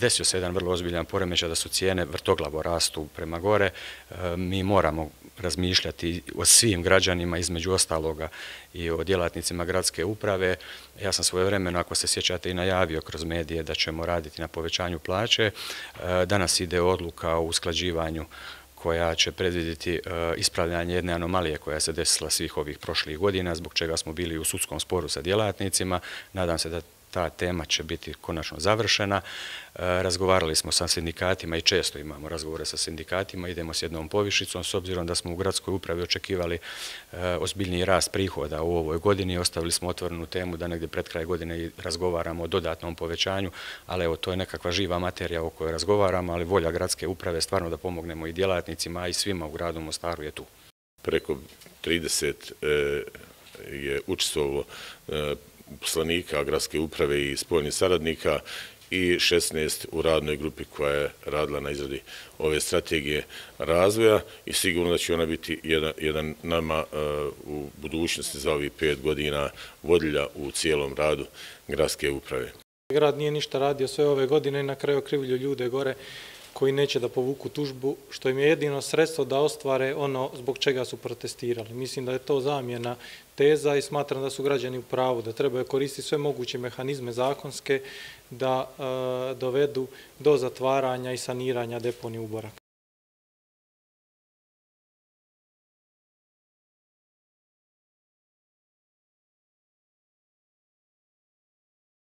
desio se jedan vrlo ozbiljan poremećaj da su cijene vrtoglavo rastu prema gore. Mi moramo razmišljati o svim građanima, između ostaloga i o djelatnicima gradske uprave. Ja sam svojevremeno, ako se sjećate, i najavio kroz medije da ćemo raditi na povećanju plaće. Danas ide odluka o usklađivanju koja će predvidjeti ispravljanje jedne anomalije koja se desila svih ovih prošlih godina, zbog čega smo bili u sudskom sporu sa djelatnicima. Nadam se da ta tema će biti konačno završena. Razgovarali smo sa sindikatima i često imamo razgovore sa sindikatima, idemo s jednom povišicom, s obzirom da smo u gradskoj upravi očekivali ozbiljniji rast prihoda u ovoj godini. Ostavili smo otvorenu temu da negdje pred kraj godine razgovaramo o dodatnom povećanju, ali evo, to je nekakva živa materija o kojoj razgovaramo, ali volja gradske uprave stvarno da pomognemo i djelatnicima, a i svima u gradu Mostaru je tu. Preko 30 je učestvovalo uposlenika gradske uprave i spoljnih saradnika i 16 u radnoj grupi koja je radila na izradi ove strategije razvoja i sigurno da će ona biti jedan nama u budućnosti za ovih 5 godina vodilja u cijelom radu gradske uprave. Grad nije ništa radio sve ove godine i na kraju okrivljuju ljude gore koji neće da povuku tužbu, što im je jedino sredstvo da ostvare ono zbog čega su protestirali. Mislim da je to zamjena teza i smatram da su građani u pravu, da trebaju koristiti sve moguće mehanizme zakonske da dovedu do zatvaranja i saniranja deponije u Borak.